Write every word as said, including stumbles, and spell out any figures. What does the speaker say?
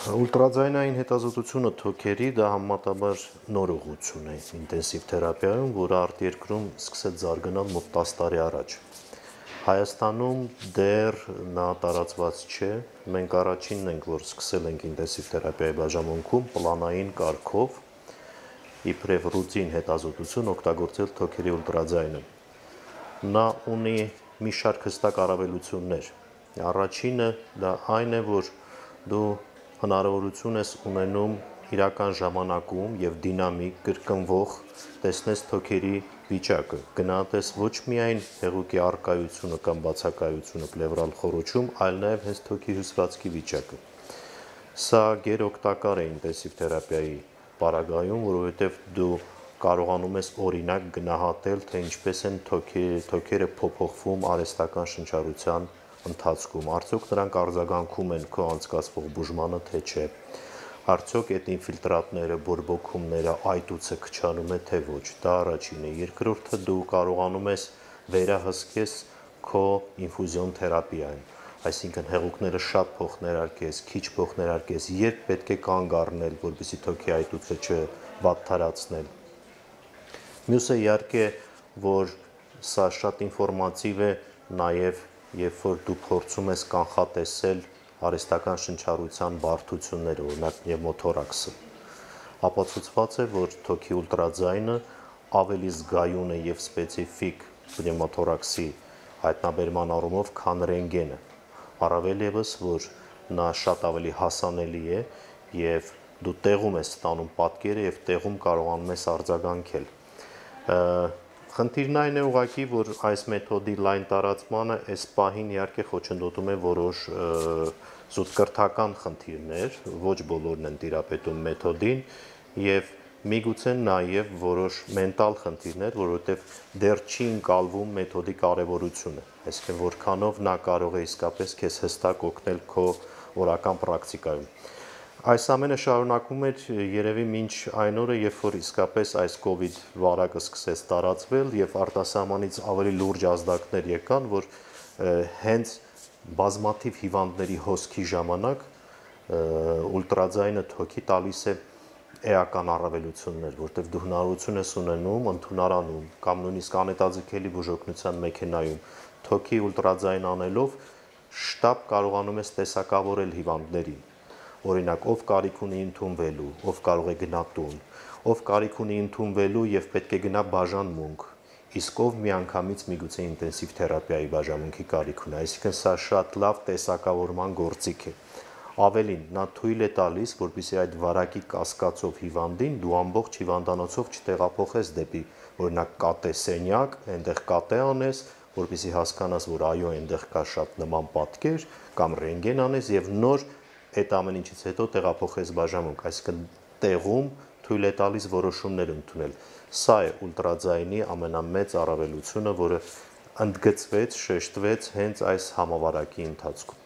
Ուլտրաձայնային հետազոտությունը թոքերի դա համեմատաբար նոր ուղղություն է ինտենսիվ թերապիայում, որը արտերկրում սկսեց զարգանալ մոտ տասը տարի առաջ։ Հայաստանում դեռ նա տարածված չէ, մենք առաջինն ենք, որ սկսել ենք ինտենսիվ թերապիայի բաժանմունքում պլանային կարգով իբրև ռուտին հետազոտություն օգտագործել թոքերի ուլտրաձայնը։ Նա ունի մի շարք հստակ առավելություններ։ Առաջինը դա այն է, որ դու հնարավորություն ես ունենում իրական ժամանակում եւ դինամիկ կրկնվող տեսնես թոքերի վիճակը, գնահատես ոչ միայն հեղուկի առկայությունը կամ բացակայությունը պլևրալ խոռոչում, այլ նաեւ հենց թոքի հյուսվածքի վիճակը։ Սա գերօգտակար է ինտենսիվ թերապիայի պարագայում, որովհետեւ դու կարողանում ես օրինակ գնահատել, թե ինչպես են թոքերը փոփոխվում արհեստական շնչառության ընթացքում, արդյոք նրանք արձագանքում են քո անցկացվող բուժմանը, թե չէ, արդյոք այդ ինֆիլտրատները, բորբոքումները, այտուցը քչանում է, թե ոչ, դա առաջինը, երկրորդը դու կարողանում ես վերահսկես քո ինֆուզիոն թերապիային, այսինքն հեղուկները շատ փոխներարկես, քիչ փոխներարկես, երբ պետք է կանգ առնել, որպեսզի թոքի այտուցը չվատթարացնել։ Մյուսը իհարկե, որ սա շատ ինֆորմատիվ է նաև, երբ որ դու փորձում ես կանխատեսել արհեստական շնչառության բարդությունները, օրինակ պնևմոթորաքսը, ապացուցված է, որ թոքի ուլտրաձայնը ավելի զգայուն է եւ սպეციფիկ պնևմոթորաքսի հայտնաբերման առումով, քան ռենտգենը, առավել եւս, որ նա շատ ավելի հասանելի է եւ դու տեղում ես ստանում պատկերը եւ տեղում կարողանում ես արձագանքել։ Խնդիրն այն է ուղղակի, որ այս մեթոդի լայն տարածմանը այս պահին իհարկե խոչընդոտում է որոշ զուտկրթական խնդիրներ, ոչ բոլորն են տիրապետում մեթոդին եւ միգուցե նաեւ որոշ մենտալ խնդիրներ, որովհետեւ դեռ չի ընկալվում մեթոդի կարեւորությունը, այսինքն որքանով նա կարող է իսկապես քեզ հստակ օգնել քո օրական պրակտիկայում։ Այս ամենը շարունակվում էր երևի մինչ այն օրը, երբ որ իսկապես այս կոവിഡ് վարակը սկսեց տարածվել եւ արտասահմանից ավելի լուրջ ազդակներ եկան, որ հենց բազմաթիվ հիվանդների հոսքի ժամանակ ուլտրաձայնը թոքի տալիս է էական առավելություններ, որտեղ դու հնարավորություն ես ունենում ընդունարանում կամ նույնիսկ անհետաձգելի բուժօգնության մեքենայում թոքի ուլտրաձայն անելով շտապ կարողանում ես տեսակավորել հիվանդներին։ Օրինակ, ով կարիք ունի ընդունվելու, ով կարող է գնա տուն, ով կարիք ունի ընդունվելու եւ պետք է գնա բաժանմունք, իսկ ով միանգամից միգուցե ինտենսիվ թերապիայի բաժանմունքի կարիք ունի, այսինքն սա շատ լավ տեսակավորման գործիք է։ Ավելին, նա թույլ է տալիս, որպեսզի այդ վարակի կասկածով հիվանդին դու ամբողջ հիվանդանոցով չտեղափոխես դեպի, օրինակ, կատե սենյակ, այնտեղ կատե անես, որպեսզի հասկանաս, որ այո, այնտեղ կա շատ նման պատկեր, կամ ռենտգեն անես եւ նոր այդ ամեն ինչից հետո տեղափոխես բաժանմունք, այսինքն տեղում թույլ է տալիս որոշումներ ընդունել։ Սա է ուլտրաձայնի ամենամեծ առավելությունը, որը ընդգծվեց, շեշտվեց հենց այս համավարակի ընթացքում։